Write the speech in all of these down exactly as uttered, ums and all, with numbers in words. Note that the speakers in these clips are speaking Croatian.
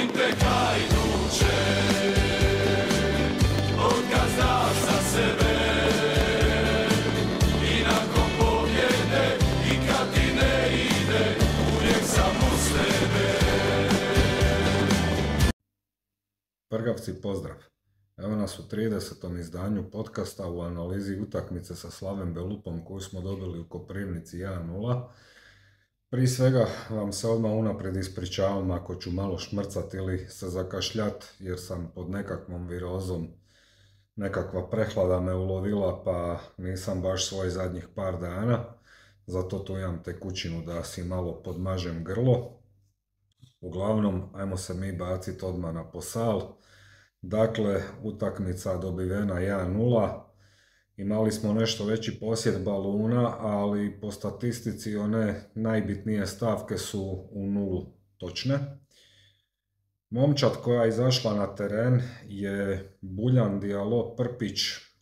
Molim te Hajduče, otkad znam za sebe, i nakon pobjede, i kad ti ne ide, uvijek sam uz tebe. Prgavci, pozdrav! Evo nas u tridesetom izdanju podcasta u analizi utakmice sa Slavem Belupom koju smo dobili u Koprivnici jedan nula. Prije svega vam se odmah unaprijed ispričavam ako ću malo šmrcat ili se zakašljat jer sam pod nekakvom virozom, nekakva prehlada me ulovila pa nisam baš svoj zadnjih par dana. Zato tu imam tekućinu da si malo podmažem grlo. Uglavnom, ajmo se mi baciti odmah na posal. Dakle, utakmica dobivena jedan nula. Imali smo nešto veći posjed baluna, ali po statistici one najbitnije stavke su u nulu točne. Momčad koja je izašla na teren je Buljan, Dialo, Prpić,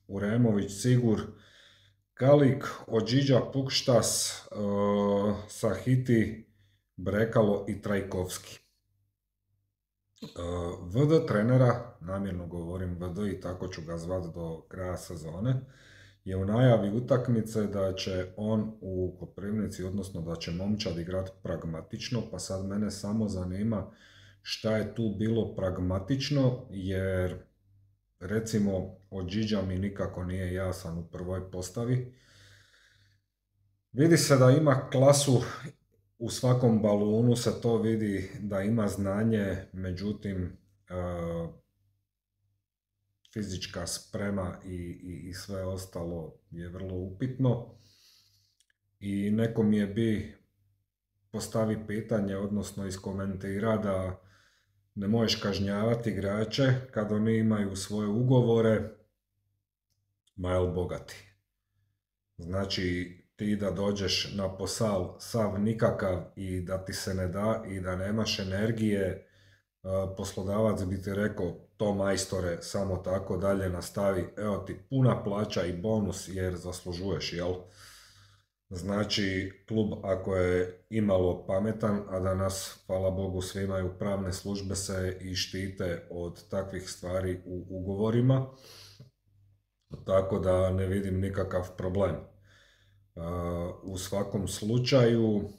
Uremović, Sigur, Kalik, Odžiđa, Pukštas, uh, Sahiti, Brekalo i Trajkovski. Uh, V D trenera, namjerno govorim V D i tako ću ga zvat do kraja sezone, je u najavi utakmice da će on u Koprivnici, odnosno da će Momčad igrat pragmatično, pa sad mene samo zanima šta je tu bilo pragmatično, jer recimo Odžiđa mi nikako nije jasan u prvoj postavi. Vidi se da ima klasu, u svakom balunu se to vidi da ima znanje, međutim uh, fizička sprema i, i, i sve ostalo je vrlo upitno. I neko mi je bi postavi pitanje, odnosno iskomentira da ne možeš kažnjavati igrače kad oni imaju svoje ugovore, ma jel bogati. Znači, ti da dođeš na posal sav nikakav i da ti se ne da i da nemaš energije, poslodavac bi ti rekao to majstore, samo tako dalje nastavi, evo ti puna plaća i bonus jer zaslužuješ, jel? Znači, klub ako je imalo pametan, a da nas, hvala Bogu, svi imaju pravne službe se i štite od takvih stvari u ugovorima, tako da ne vidim nikakav problem. Uh, u svakom slučaju, uh,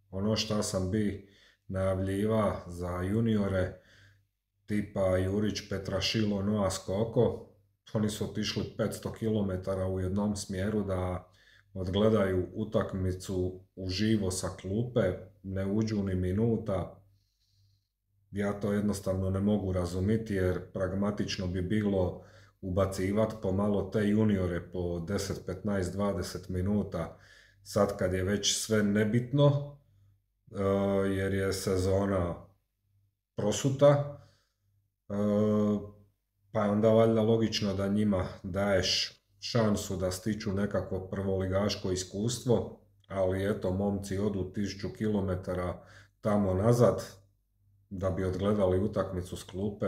ono što sam bi najavljiva za juniore tipa Jurić, Petrašilo, Noa Skoko, oni su otišli petsto kilometara u jednom smjeru da odgledaju utakmicu uživo sa klupe, ne uđu ni minuta. Ja to jednostavno ne mogu razumjeti jer pragmatično bi bilo ubacivati pomalo te juniore po deset, petnaest, dvadeset minuta sad kad je već sve nebitno jer je sezona prosuta, pa je onda valjda logično da njima daješ šansu da stiču nekakvo prvoligaško iskustvo, ali eto, momci odu tisuću kilometara tamo nazad da bi odgledali utakmicu s klupe.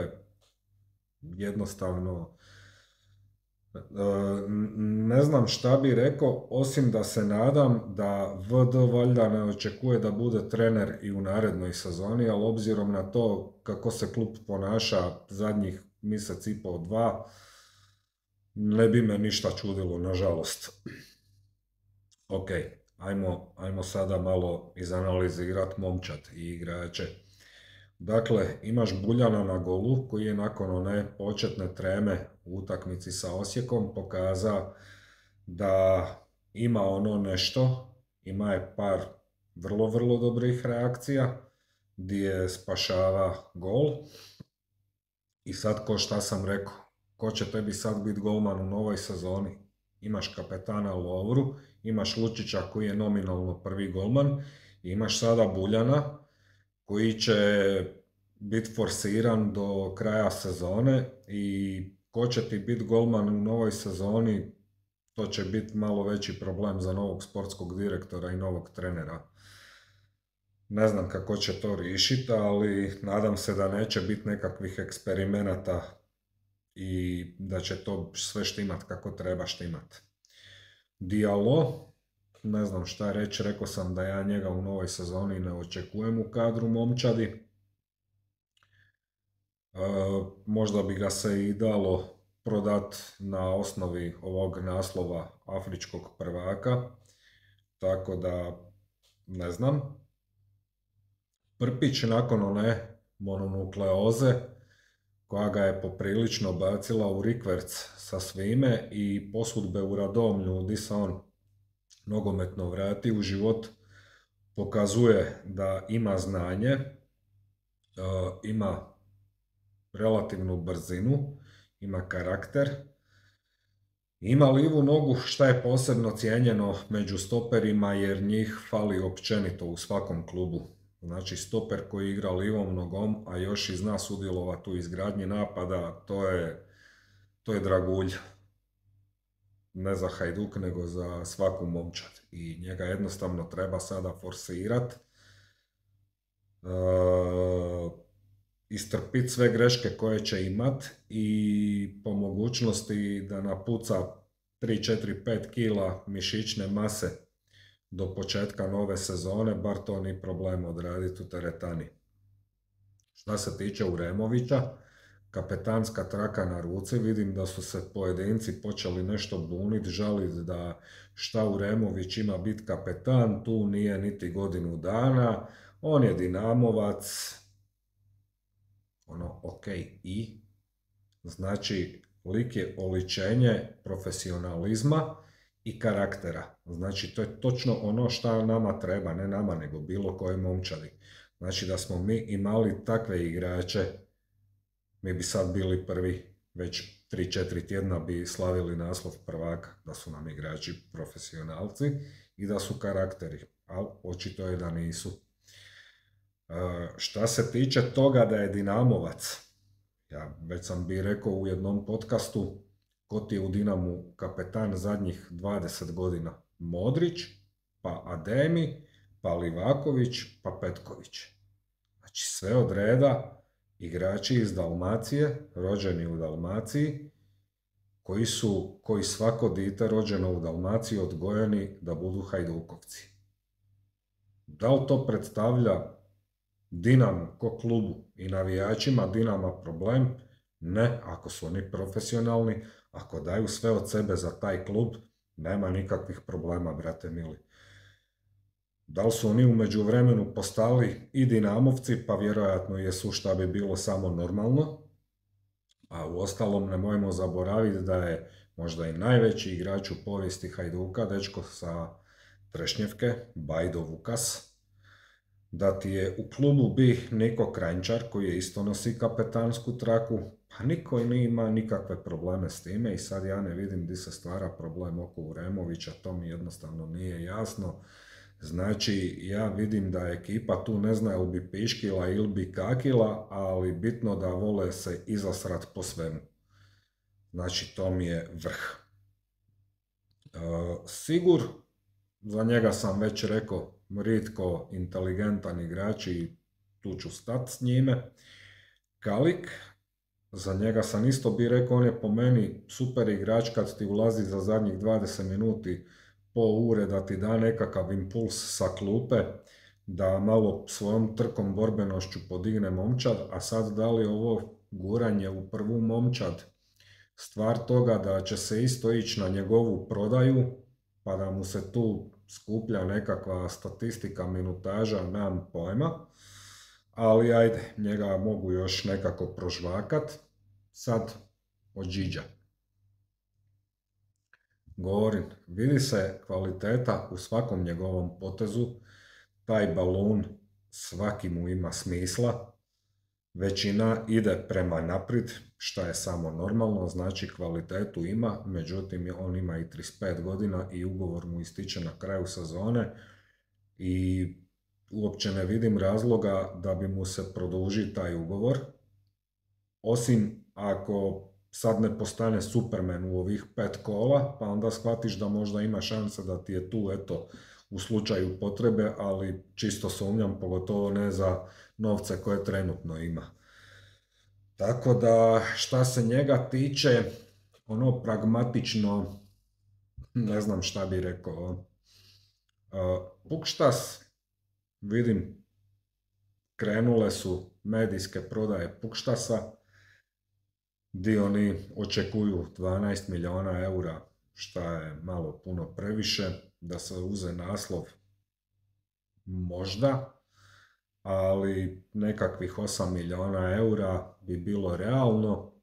Jednostavno ne znam šta bi rekao, osim da se nadam da V D valjda ne očekuje da bude trener i u narednoj sezoni, ali obzirom na to kako se klub ponaša zadnjih mjesec i pol dva, ne bi me ništa čudilo, nažalost. Ok, ajmo, ajmo sada malo izanalizirati Momčad i igrače. Dakle, imaš Buljana na golu koji je nakon one početne treme u utakmici sa Osijekom pokazao da ima ono nešto, ima je par vrlo, vrlo dobrih reakcija gdje spašava gol. I sad, ko šta sam rekao, ko će tebi sad biti golman u novoj sezoni? Imaš kapetana Lovru, imaš Lučića koji je nominalno prvi golman, i imaš sada Buljana koji će biti forsiran do kraja sezone i ko će ti biti golman u novoj sezoni, to će biti malo veći problem za novog sportskog direktora i novog trenera. Ne znam kako će to riješiti, ali nadam se da neće biti nekakvih eksperimenata i da će to sve štimat kako treba štimat. Dialo, ne znam šta reći, rekao sam da ja njega u novoj sezoni ne očekujem u kadru Momčadi. možda bi ga se i dalo prodat na osnovi ovog naslova afričkog prvaka, tako da ne znam. Prpić nakon one mononukleoze koja ga je poprilično bacila u rikverc sa svime i posudbe u Radomlju di se on nogometno vrati u život, pokazuje da ima znanje, ima relativnu brzinu, ima karakter, ima livu nogu, šta je posebno cijenjeno među stoperima jer njih fali općenito u svakom klubu. Znači stoper koji igra livom nogom, a još i zna sudjelovati u izgradnji napada, to je, to je dragulj. Ne za Hajduk, nego za svaku momčad. I njega jednostavno treba sada forsirat. E, istrpiti sve greške koje će imat i po mogućnosti da napuca tri, četiri, pet kila mišićne mase do početka nove sezone, bar to ni problem odraditi u teretani. Šta se tiče Uremovića, kapetanska traka na ruci, vidim da su se pojedinci počeli nešto buniti, žaliti da šta Uremović ima biti kapetan, tu nije niti godinu dana, on je Dinamovac, ono, ok, i? Znači, lik je oličenje profesionalizma i karaktera. Znači, to je točno ono šta nama treba, ne nama, nego bilo koje momčadi. Znači, da smo mi imali takve igrače, mi bi sad bili prvi, već tri četiri tjedna bi slavili naslov prvaka, da su nam igrači profesionalci i da su karakteri, ali očito je da nisu. Uh, šta se tiče toga da je Dinamovac, ja već sam bi rekao u jednom podcastu, ko ti je u Dinamu kapetan zadnjih dvadeset godina? Modrić, pa Ademi, pa Livaković, pa Petković. Znači sve od reda igrači iz Dalmacije, rođeni u Dalmaciji, koji su, koji svako dite rođeno u Dalmaciji odgojeni da budu Hajdukovci. Da li to predstavlja Dinamo ko klubu i navijačima Dinama problem? Ne, ako su oni profesionalni, ako daju sve od sebe za taj klub, nema nikakvih problema, brate mili. Da li su oni u međuvremenu postali i Dinamovci, pa vjerojatno jesu, šta bi bilo samo normalno. A u ostalom nemojmo zaboraviti da je možda i najveći igrač u povijesti Hajduka, dečko sa Trešnjevke, Bajdo Vukas. Da ti je u klubu bi Niko Kranjčar, koji je isto nosi kapetansku traku, pa niko i nije ima nikakve probleme s time i sad ja ne vidim di se stvara problem oko Uremovića, to mi jednostavno nije jasno. Znači, ja vidim da ekipa tu ne zna ili bi piškila ili bi kakila, ali bitno da vole se izasrat po svemu. Znači, to mi je vrh. E, Sigur, za njega sam već rekao, ritko inteligentan igrač i tu ću stat s njime. Kalik, za njega sam isto bi rekao, on je po meni super igrač kad ti ulazi za zadnjih dvadeset minuti po ure, da ti da nekakav impuls sa klupe, da malo svojom trkom borbenošću podigne momčad, a sad da li ovo guranje u prvu momčad stvar toga da će se isto ići na njegovu prodaju, pa da mu se tu skuplja nekakva statistika, minutaža, nemam pojma, ali ajde, njega mogu još nekako prožvakat. Sad od Điđa. Govorim, vidi se kvaliteta u svakom njegovom potezu, taj balun svaki mu ima smisla, većina ide prema naprijed, šta je samo normalno, znači kvalitetu ima, međutim on ima i trideset pet godina i ugovor mu ističe na kraju sezone i uopće ne vidim razloga da bi mu se produžio taj ugovor, osim ako sad ne postane Superman u ovih pet kola, pa onda shvatiš da možda ima šanse da ti je tu, eto, u slučaju potrebe, ali čisto sumnjam, pogotovo ne za novce koje trenutno ima. Tako da, šta se njega tiče, ono pragmatično, ne znam šta bi rekao. Uh, Pukštas, vidim, krenule su medijske prodaje Pukštasa, di oni očekuju dvanaest milijuna eura, šta je malo puno previše, da se uze naslov možda, ali nekakvih osam milijuna eura bi bilo realno,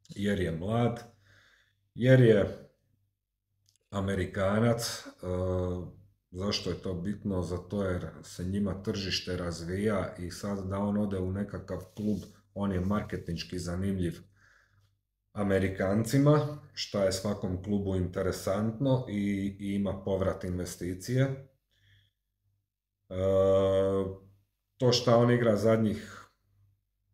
jer je mlad, jer je Amerikanac. E, zašto je to bitno? Zato jer se njima tržište razvija i sad da on ode u nekakav klub, on je marketinški zanimljiv Amerikancima, što je svakom klubu interesantno i, i ima povrat investicije. E, to što on igra zadnjih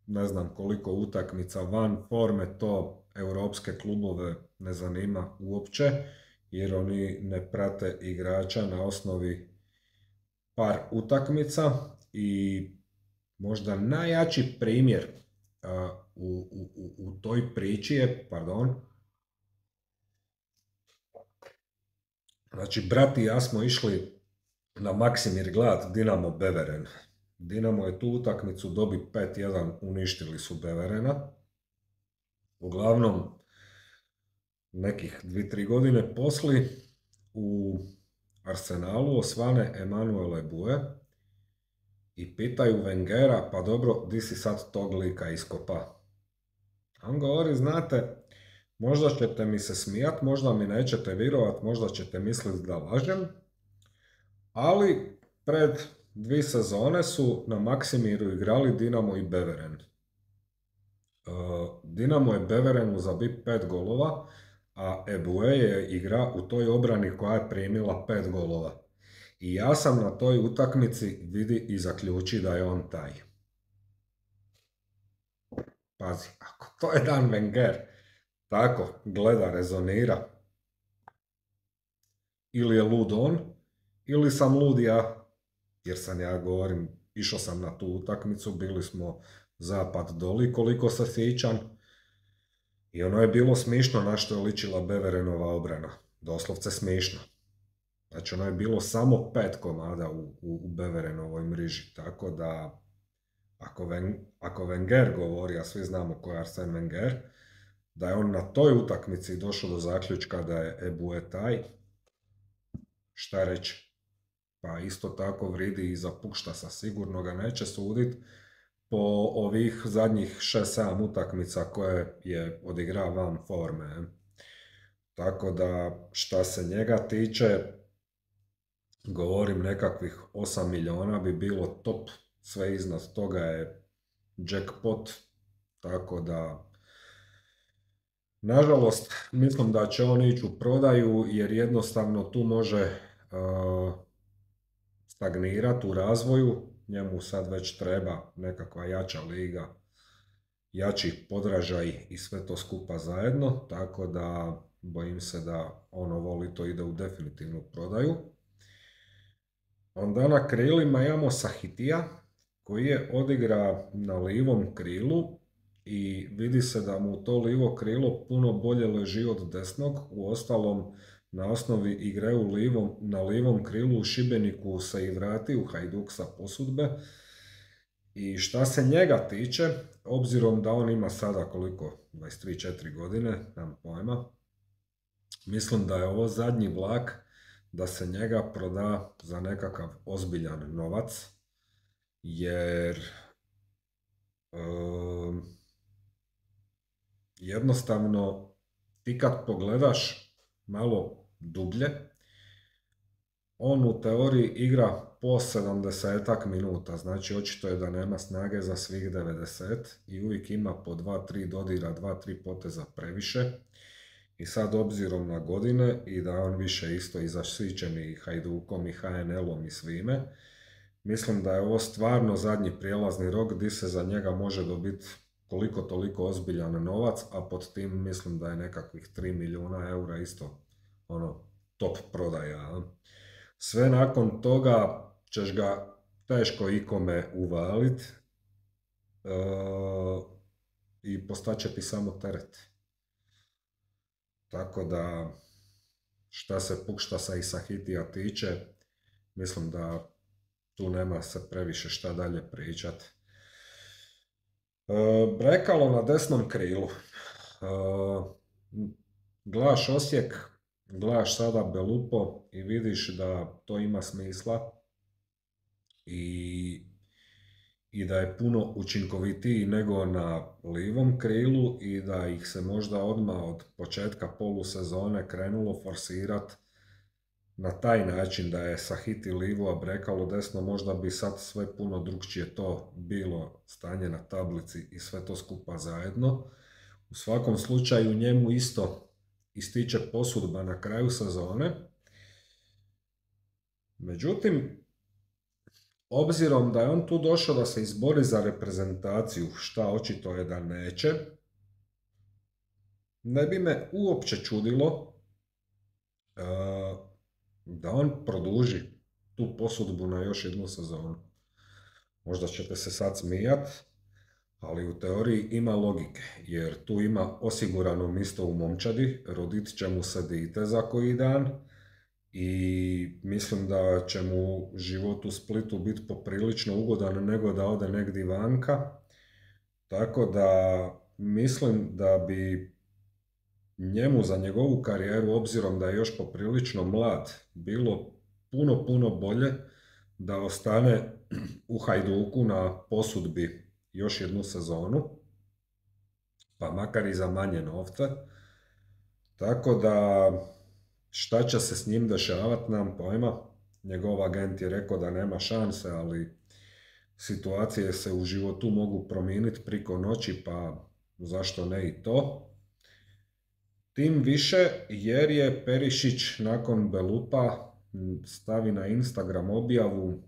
ne znam koliko utakmica van forme, to europske klubove ne zanima uopće, jer oni ne prate igrača na osnovi par utakmica. I možda najjači primjer uh, u, u, u toj priči je, pardon, znači brat i ja smo išli na Maksimir gledat Dinamo Beveren. Dinamo je tu utakmicu dobi pet jedan, uništili su Beverena. Uglavnom, nekih dvije tri godine posli u Arsenalu osvane Emanuel Ebue i pitaju Wengera, pa dobro, di si sad tog lika iskopa? A on govori, znate, možda ćete mi se smijat, možda mi nećete virovat, možda ćete misliti da lažem, ali pred dvije sezone su na Maksimiru igrali Dinamo i Beveren. Dinamo je Beverenu zabio pet golova, a Ebue je igra u toj obrani koja je primila pet golova. I ja sam na toj utakmici vidi i zaključi da je on taj. Pazi, ako to je Dan Wenger, tako gleda, rezonira, ili je lud on, ili sam lud ja, jer sam ja govorim, išao sam na tu utakmicu, bili smo zapad doli, koliko se sjećam, i ono je bilo smišno na što je ličila Beverenova obrana, doslovce smišno. Znači ono je bilo samo pet komada u, u, u Beverenovoj mriži, tako da ako, Ven, ako Wenger govori, a svi znamo ko je Arsene Wenger, da je on na toj utakmici došao do zaključka da je Ebue taj, šta reći? Pa isto tako vridi i za Puštasa, sigurno ga neće sudit po ovih zadnjih šest sedam utakmica koje je odigrao van forme. Tako da šta se njega tiče, govorim nekakvih osam milijuna bi bilo top, sve iznad toga je jackpot, tako da nažalost mislim da će on ići u prodaju jer jednostavno tu može uh, stagnirati u razvoju, njemu sad već treba nekakva jača liga, jači podražaj i sve to skupa zajedno, tako da bojim se da ono voli to ide u definitivnu prodaju. Onda na krilima imamo Sahitija koji je odigra na livom krilu i vidi se da mu to livo krilo puno bolje leži od desnog. Uostalom, na osnovi igre u livom, na livom krilu u Šibeniku se i vrati u Hajduk sa posudbe. I šta se njega tiče, obzirom da on ima sada koliko, dvadeset tri četiri godine, nemam pojma, mislim da je ovo zadnji vlak da se njega proda za nekakav ozbiljan novac, jer um, jednostavno ti kad pogledaš malo dublje, on u teoriji igra po sedamdesetak minuta, znači očito je da nema snage za svih devedeset i uvijek ima po dva tri dodira, dva tri poteza previše. I sad obzirom na godine i da on više isto i zaštićen i Hajdukom i H N L-om i svime, mislim da je ovo stvarno zadnji prijelazni rok gdje se za njega može dobiti koliko toliko ozbiljan novac, a pod tim mislim da je nekakvih tri milijuna eura isto ono top prodaja. Sve nakon toga ćeš ga teško ikome uvalit e, i postaće ti samo teret. Tako da, šta se Puštasa i Sahitija tiče, mislim da tu nema se previše šta dalje pričat. E, Brekalo na desnom krilu. Uh, gledaš Osijek, gledaš sada Belupo i vidiš da to ima smisla i, i da je puno učinkovitiji nego na livom krilu i da ih se možda odmah od početka polusezone krenulo forsirati na taj način da je Sahiti livo, a Brekalo desno, možda bi sad sve puno drukčije to bilo stanje na tablici i sve to skupa zajedno. U svakom slučaju njemu isto ističe posudba na kraju sezone. Međutim, obzirom da je on tu došao da se izbori za reprezentaciju, šta očito je da neće, ne bi me uopće čudilo uh, da on produži tu posudbu na još jednu sezonu. Možda ćete se sad smijat, ali u teoriji ima logike, jer tu ima osigurano mjesto u momčadi, rodit će mu se dite za koji dan i mislim da će mu život u Splitu biti poprilično ugodan nego da ode negdje vanka. Tako da mislim da bi njemu za njegovu karijeru, obzirom da je još poprilično mlad, bilo puno, puno bolje da ostane u Hajduku na posudbi još jednu sezonu, pa makar i za manje novca. Tako da šta će se s njim dešavati, nam pojma. Njegov agent je rekao da nema šanse, ali situacije se u životu mogu promijeniti priko noći, pa zašto ne i to. Tim više jer je Perišić nakon Belupa stavi na Instagram objavu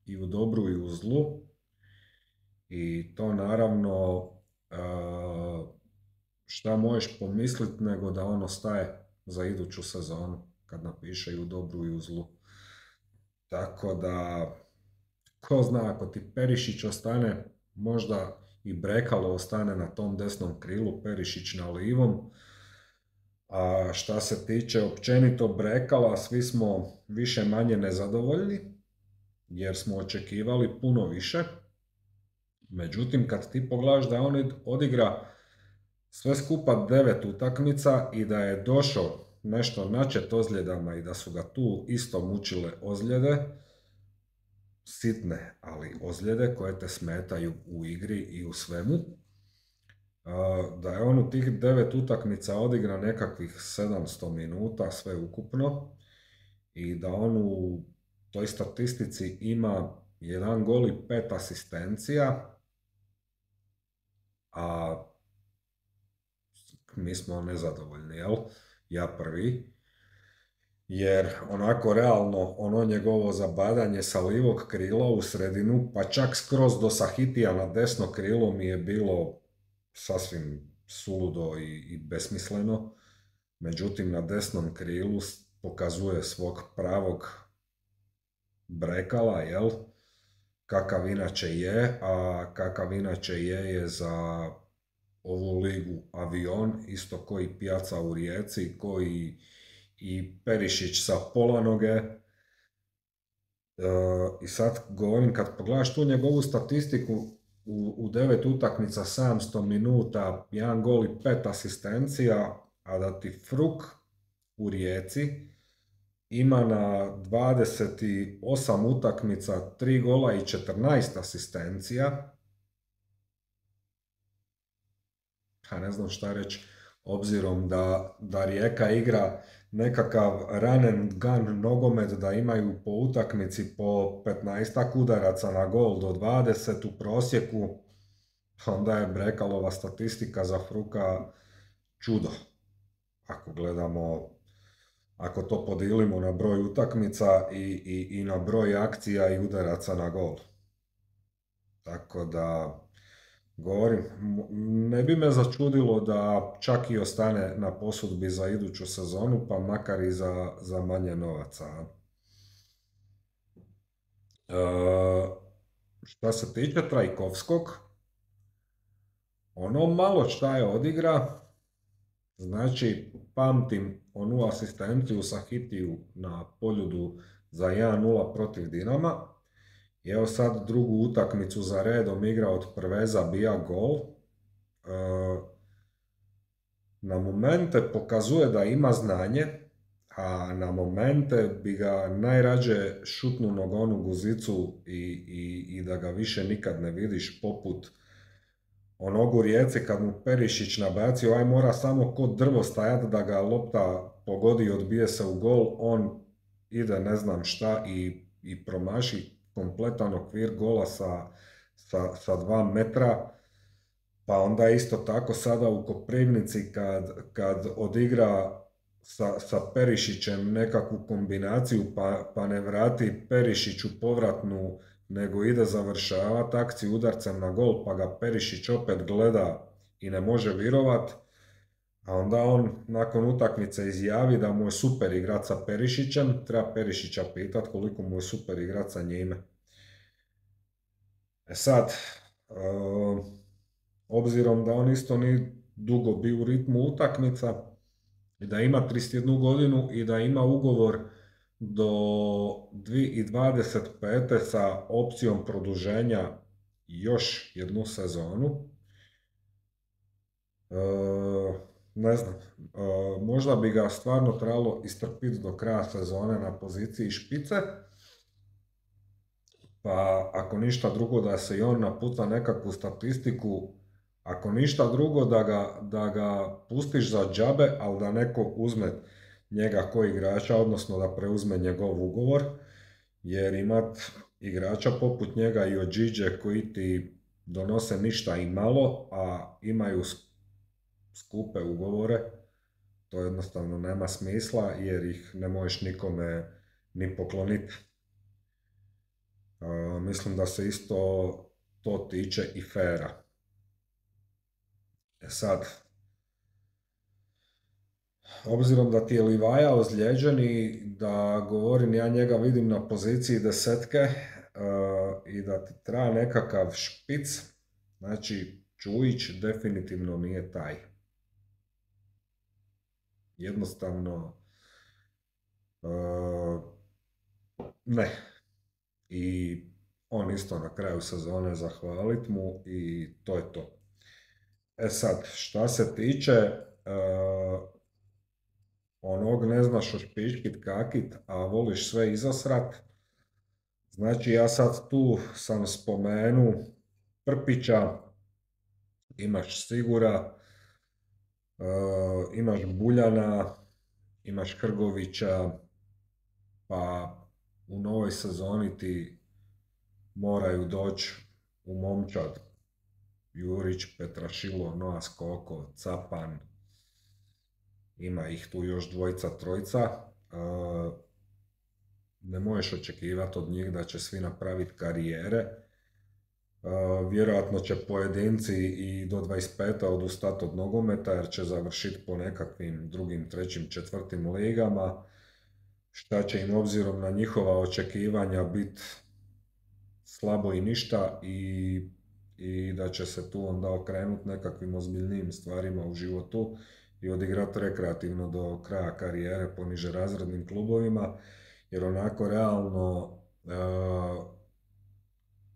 i u dobru i u zlu. I to naravno šta možeš pomisliti nego da on ostaje za iduću sezonu kad napiše i u dobru i u zlu. Tako da, ko zna, ako ti Perišić ostane, možda i Brekalo ostane na tom desnom krilu, Perišić na livom. A šta se tiče općenito Brekala, svi smo više manje nezadovoljni, jer smo očekivali puno više. Međutim, kad ti pogledaš da on odigra sve skupa devet utakmica i da je došao nešto načet ozljedama i da su ga tu isto mučile ozljede, sitne, ali ozljede koje te smetaju u igri i u svemu, da je on u tih devet utakmica odigra nekakvih sedamsto minuta sve ukupno i da on u toj statistici ima jedan gol i pet asistencija, a mi smo nezadovoljni, jel? Ja prvi. Jer onako realno ono njegovo zabadanje sa livog krila u sredinu, pa čak skroz do Sahitija na desno krilo mi je bilo sasvim suludo i, i besmisleno. Međutim, na desnom krilu pokazuje svog pravog Brekala, jel? Kakav inače je, a kakav inače je je za ovu ligu avion, isto koji Pijaca u Rijeci, koji i Perišić sa pola noge. E, I sad govorim, kad pogledaš tu njegovu statistiku, u, u devet utakmica sedamsto minuta, jedan gol i pet asistencija, a da ti Fruk u Rijeci ima na dvadeset osam utakmica tri gola i četrnaest asistencija. Ja ne znam šta reći, obzirom da, da Rijeka igra nekakav run and gun nogomet, da imaju po utakmici po petnaestak udaraca na gol do dvadeset u prosjeku, onda je Brekalova statistika za Fruka čudo. Ako gledamo, ako to podijelimo na broj utakmica i, i, i na broj akcija i udaraca na gol. Tako da, govorim, ne bi me začudilo da čak i ostane na posudbi za iduću sezonu, pa makar i za, za manje novaca. E, šta se tiče Trajkovskog, ono malo šta je odigra, znači pamtim onu asistenciju sa Hitiju na Poljudu za jedan nula protiv Dinama. I evo sad drugu utakmicu za redom igra od prve zabija gol. E, na momente pokazuje da ima znanje, a na momente bi ga najrađe šutnu nogom u guzicu i, i, i da ga više nikad ne vidiš, poput onog u Rijeci kad mu Perišić nabacio, aj mora samo kod drvo stajat da ga lopta pogodi i odbije se u gol, on ide ne znam šta i, i promaši kompletan okvir gola sa, sa, sa dva metra. Pa onda isto tako sada u Koprivnici kad, kad odigra sa, sa Perišićem nekakvu kombinaciju pa, pa ne vrati Perišiću povratnu nego ide završavati akciju udarcem na gol pa ga Perišić opet gleda i ne može virovat, a onda on nakon utakmice izjavi da mu je super igrat sa Perišićem, treba Perišića pitat koliko mu je super igrat sa njime. E sad, uh, obzirom da on isto nije dugo bio u ritmu utakmica i da ima trideset jednu godinu i da ima ugovor do dvije tisuće dvadeset pete sa opcijom produženja još jednu sezonu. E, ne znam, e, možda bi ga stvarno trebalo istrpiti do kraja sezone na poziciji špice, pa ako ništa drugo da se i on napuca nekakvu statistiku, ako ništa drugo da ga, da ga pustiš za džabe, ali da neko uzme njega ko igrača, odnosno da preuzme njegov ugovor, jer imat igrača poput njega i Odžiđe koji ti donose ništa i malo, a imaju skupe ugovore, to jednostavno nema smisla jer ih ne možeš nikome ni pokloniti. Uh, mislim da se isto to tiče i Fera. E sad, obzirom da ti je Livaja ozlijeđen i da govorim, ja njega vidim na poziciji desetke uh, i da ti treba nekakav špic, znači Čujić definitivno nije taj. Jednostavno, uh, ne. I on isto na kraju sezone zahvalit mu i to je to. E sad, šta se tiče uh, onog ne znaš ošpičkit kakit, a voliš sve izosrat, znači ja sad tu sam spomenu Prpića, imaš Sigura, uh, imaš Buljana, imaš Hrgovića, pa u novoj sezoni ti moraju doći u momčad Jurić, Petrašilo, Noa Skoko, Capan, ima ih tu još dvojica, trojica. E, ne možeš očekivati od njih da će svi napraviti karijere. E, vjerojatno će pojedinci i do dvadeset pete odustati od nogometa jer će završiti po nekakvim drugim, trećim, četvrtim ligama. Šta će im obzirom na njihova očekivanja biti slabo i ništa i, i da će se tu onda okrenuti nekakvim ozbiljnijim stvarima u životu i odigrati rekreativno do kraja karijere po nižerazrednim klubovima, jer onako realno uh,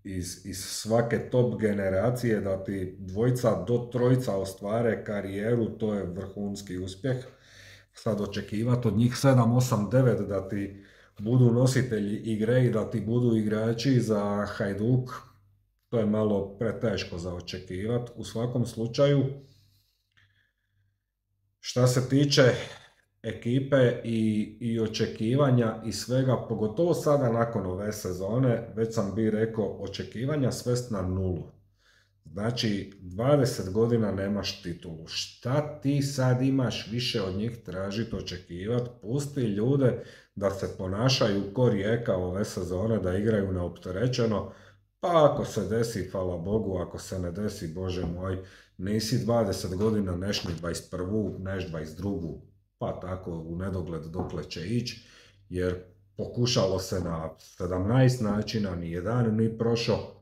iz, iz svake top generacije da ti dvojica do trojica ostvare karijeru, to je vrhunski uspjeh. Sad očekivati od njih sedam, osam, devet da ti budu nositelji igre i da ti budu igrači za Hajduk, to je malo preteško za očekivati. U svakom slučaju, šta se tiče ekipe i, i očekivanja i svega, pogotovo sada nakon ove sezone, već sam bi rekao, očekivanja svest na nulu. Znači, dvadeset godina nemaš titulu. Šta ti sad imaš više od njih tražiti, očekivati? Pusti ljude da se ponašaju ko Rijeka ove sezone, da igraju neopterećeno. Pa ako se desi, hvala Bogu, ako se ne desi, Bože moj, nisi dvadeset godina, neš ni dvadeset prvu, neš dvadeset drugu, pa tako u nedogled dokle će ići, jer pokušalo se na sedamnaest načina, ni jedan ni prošao.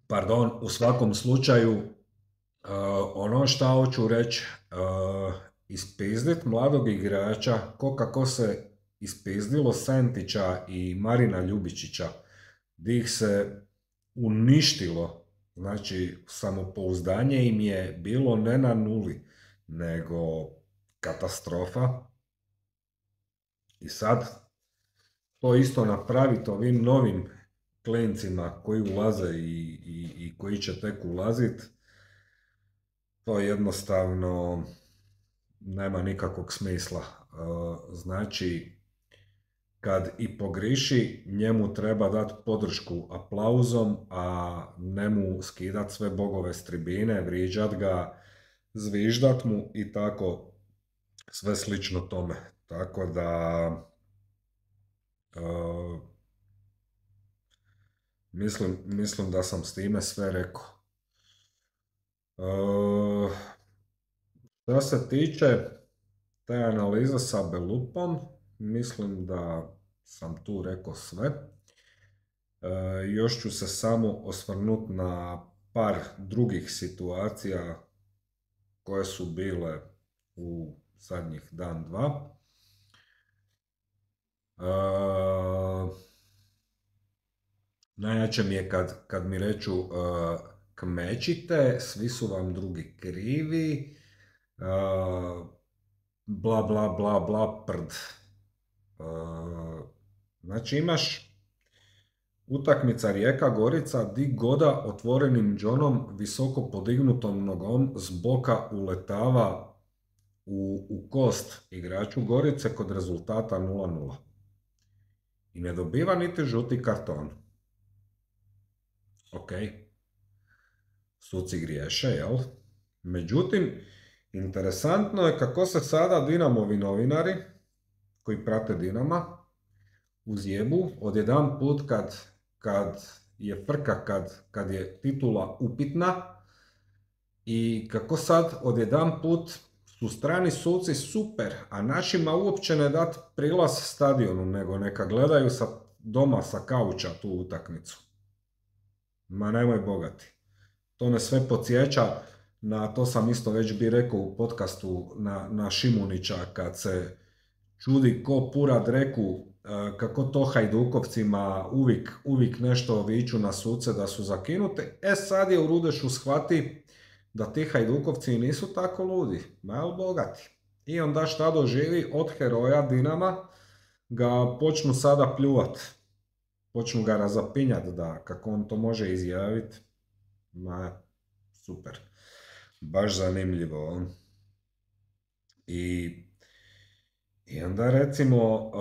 Pardon, u svakom slučaju, uh, ono šta hoću reći, uh, ispizdit mladog igrača, ko kako se ispizdilo Sentića i Marina Ljubičića, di ih se uništilo Znači, samopouzdanje im je bilo ne na nuli, nego katastrofa. I sad to isto napraviti ovim novim klincima koji ulaze i, i, i koji će tek ulaziti, to jednostavno nema nikakvog smisla. Znači, kad i pogriši, njemu treba dati podršku aplauzom, a ne mu skidat sve bogove s tribine, vrijeđat ga, zviždat mu i tako sve slično tome. Tako da uh, mislim, mislim da sam s time sve rekao. Uh, što se tiče te analize sa Belupom, mislim da sam tu rekao sve. E, još ću se samo osvrnuti na par drugih situacija koje su bile u zadnjih dan, dva. E, najjače mi je kad, kad mi reču e, kmećite, svi su vam drugi krivi, e, bla bla bla bla prd. Uh, znači imaš utakmica Rijeka-Gorica, di Goda otvorenim džonom, visoko podignutom nogom s boka uletava u, u kost igraču Gorice kod rezultata nula nula. I ne dobiva niti žuti karton. Ok, suci griješe, jel? Međutim, interesantno je kako se sada Dinamovi novinari koji prate Dinama uzjebu odjedanput kad, kad je frka, kad, kad je titula upitna i kako sad odjedanput su strani suci super, a našima uopće ne dat prilaz stadionu, nego neka gledaju sa, doma sa kauča tu utakmicu. Ma nemoj bogati. To me sve podsjeća na, to sam isto već bi rekao u podcastu, na, na Šimunića kad se čudi ko pura dreku, kako to Hajdukovcima uvijek, uvijek nešto viču na suce da su zakinute. E sad je u Rudešu shvati da ti Hajdukovci nisu tako ludi, malo bogati. I onda šta doživi od heroja Dinama, ga počnu sada pljuvat. Počnu ga razapinjati da kako on to može izjaviti. Ma, super. Baš zanimljivo. I I onda recimo uh,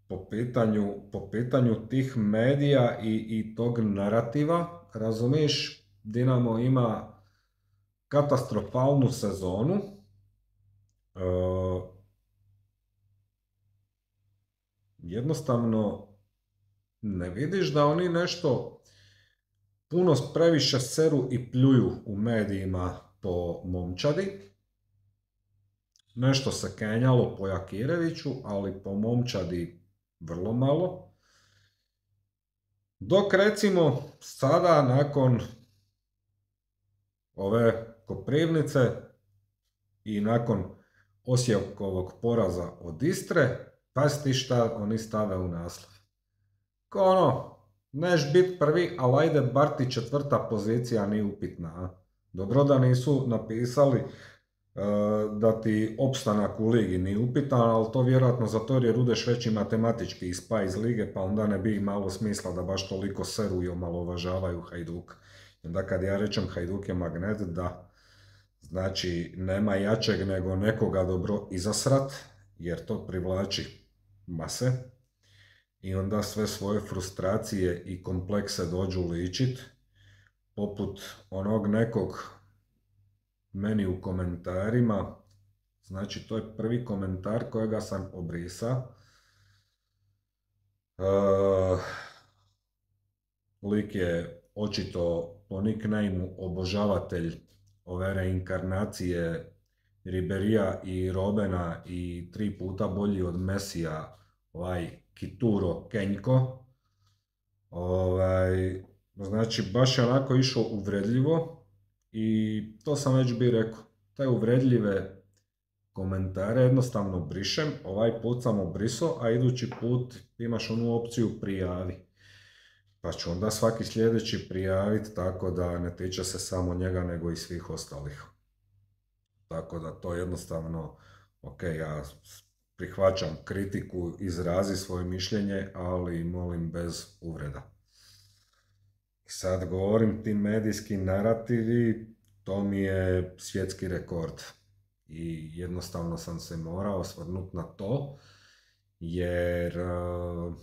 po, pitanju, po pitanju tih medija i, i tog narativa, razumiješ, Dinamo ima katastrofalnu sezonu. Uh, jednostavno ne vidiš da oni nešto puno previše seru i pljuju u medijima po momčadi. Nešto se kenjalo po Jakireviću, ali po momčadi vrlo malo. Dok recimo sada nakon ove Koprivnice i nakon Osijekovog poraza od Istre, pasti šta oni stave u naslov. Ko ono, neš bit prvi, ali ajde bar ti četvrta pozicija nije upitna. A? Dobro da nisu napisali da ti opstanak u ligi nije upitan, ali to vjerojatno zato jer je Rudeš veći matematički ispa iz lige, pa onda ne bi imalo smisla da baš toliko seru i omalovažavaju Hajduk. Onda kad ja rečem Hajduk je magnet, da, znači nema jačeg nego nekoga dobro izasrat, jer to privlači mase, i onda sve svoje frustracije i komplekse dođu ličit, poput onog nekog meni u komentarima, znači to je prvi komentar kojega sam obrisao. Uh, lik je očito po nicknameu obožavatelj ove reinkarnacije Riberija i Robena i tri puta bolji od Mesija, ovaj Kituro Kenjko. Ovaj, znači baš je onako išao uvredljivo. I to sam već bi rekao, te uvredljive komentare jednostavno brišem, ovaj put sam obrisao, a idući put imaš onu opciju prijavi. pa ću onda svaki sljedeći prijaviti, tako da ne tiče se samo njega nego i svih ostalih. Tako da to jednostavno, ok, ja prihvaćam kritiku, izrazi svoje mišljenje, ali molim bez uvreda. I sad govorim, ti medijski narativi, to mi je svjetski rekord. I jednostavno sam se morao osvrnuti na to, jer uh,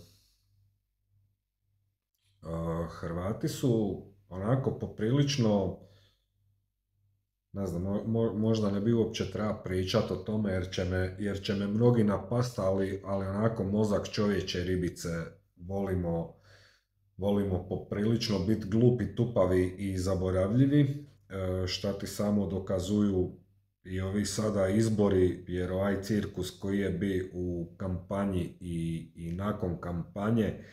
uh, Hrvati su onako poprilično, ne znam, mo, možda ne bi uopće treba pričati o tome jer će me, jer će me mnogi napast, ali, ali onako mozak čovječe ribice volimo, volimo poprilično biti glupi, tupavi i zaboravljivi, e, šta ti samo dokazuju i ovi sada izbori, jer ovaj cirkus koji je bio u kampanji i, i nakon kampanje,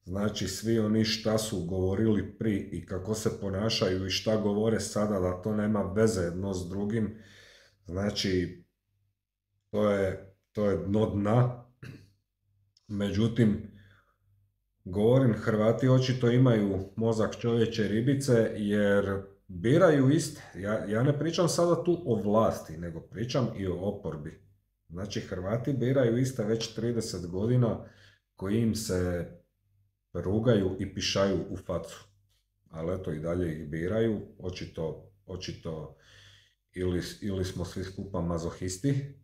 znači svi oni šta su govorili pri i kako se ponašaju i šta govore sada, da to nema veze jedno s drugim, znači to je, to je dno dna. Međutim, govorim, Hrvati očito imaju mozak čovječe ribice jer biraju iste. Ja, ja ne pričam sada tu o vlasti, nego pričam i o oporbi. Znači Hrvati biraju iste već trideset godina koji im se rugaju i pišaju u facu. Ali eto i dalje ih biraju, očito, očito ili, ili smo svi skupa mazohisti,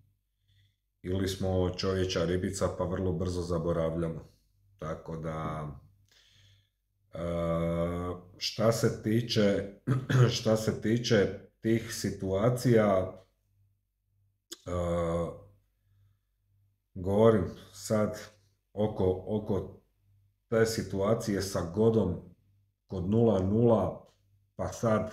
ili smo čovječa ribica pa vrlo brzo zaboravljamo. Tako da, šta se tiče, šta se tiče tih situacija, govorim sad oko, oko te situacije sa Godom kod nula nula, pa sad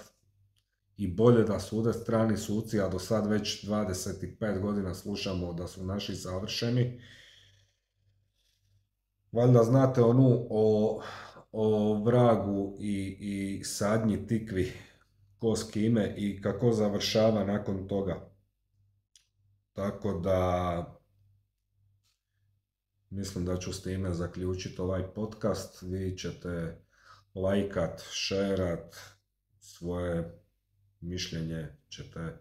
i bolje da sude strani suci, a do sad već dvadeset pet godina slušamo da su naši savršeni. Valjda znate onu o, o vragu i, i sadnji tikvi, ko s kime i kako završava nakon toga. Tako da mislim da ću s time zaključiti ovaj podcast. Vi ćete lajkat, šerat, svoje mišljenje ćete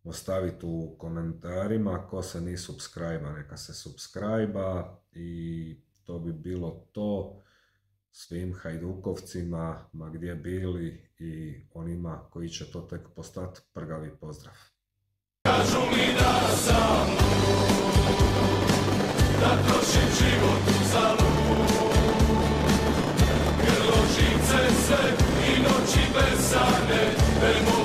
ostaviti u komentarima. Ko se ni subscribe-a, neka se subscribe-a i to bi bilo to. Svim hajdukovcima, ma gdje bili, i onima koji će to tek postati, prgavi pozdrav. Kažu mi da sam da trošim život za lud, grlo živce sve i noći bez sane.